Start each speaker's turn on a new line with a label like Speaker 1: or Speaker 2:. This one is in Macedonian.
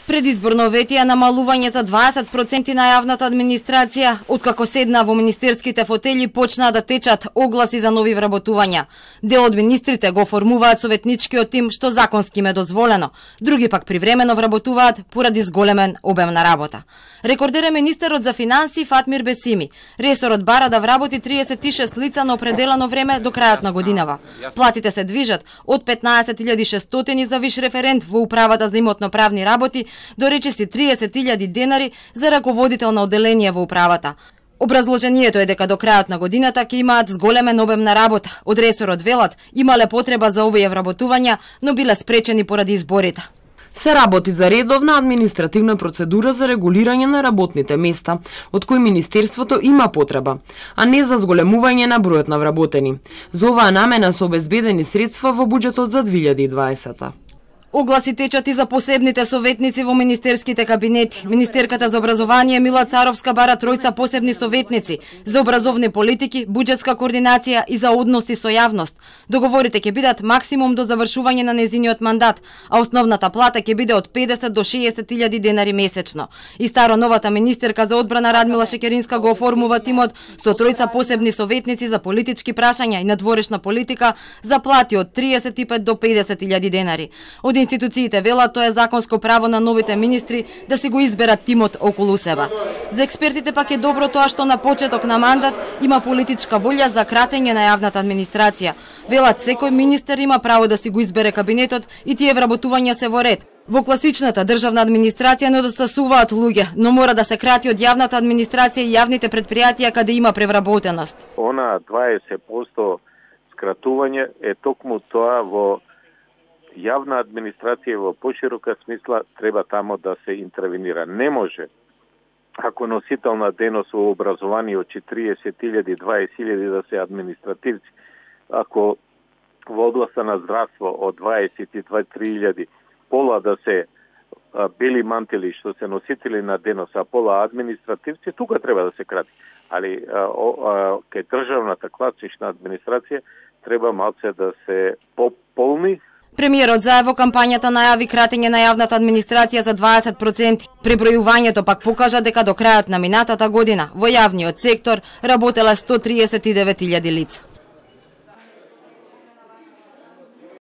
Speaker 1: Предизборно ветија намалување за 20% на јавната администрација, откако седна во министерските фотели почнаа да течат огласи за нови вработувања. Дел од министрите го формуваат советничкиот тим, што законски им е дозволено. Други пак привремено вработуваат поради зголемен обем на работа. Рекордер е министерот за финансии Фатмир Бесими. Ресорот бара да вработи 36 лица на определено време до крајот на годинава. Платите се движат од 15.600 за виш референт во управата за имотно-правни работи до речиси 30.000 денари за раководител на одделение во управата. Образложението е дека до крајот на годината ќе имаат зголемен обем на работа. Од ресорот велат имале потреба за овие вработувања, но биле спречени поради изборите.
Speaker 2: Се работи за редовна административна процедура за регулирање на работните места, од кои Министерството има потреба, а не за зголемување на бројот на вработени. За оваа намена се обезбедени средства во буџетот за 2020.
Speaker 1: Огласи течат и за посебните советници во министерските кабинети. Министерката за образование Мила Царовска бара тројца посебни советници за образовни политики, буџетска координација и за односи со јавност. Договорите ќе бидат максимум до завршување на незиниот мандат, а основната плата ќе биде од 50 до 60.000 денари месечно. И старо-новата министерка за одбрана Радмила Шекеринска го оформува тимот со тројца посебни советници за политички прашања и надворешна политика за плати од 35 до 50.000 денари. Од институциите велат тоа е законско право на новите министри да си го изберат тимот околу себе. За експертите пак е добро тоа што на почеток на мандат има политичка волја за кратење на јавната администрација. Велат секој министер има право да си го избере кабинетот и тие вработувања се во ред. Во класичната државна администрација недостасуваат луѓе, но мора да се крати од јавната администрација и јавните предпријатија каде има превработеност.
Speaker 3: Она 20% скратување е токму тоа во јавна администрација во поширока смисла треба тамо да се интервенира. Не може, ако носител на денос во образование од 40.000, 20.000 да се административци, ако во областа на здравство од 22.000 пола да се бели мантели што се носители на денос, а пола административци, тука треба да се крати. Али кај државната класична администрација треба малце да се пополни.
Speaker 1: Премиерот заедно кампањата најави кратење на јавната администрација за 20%. Пребројувањето пак покажа дека до крајот на минатата година во јавниот сектор работеле 139.000 лица.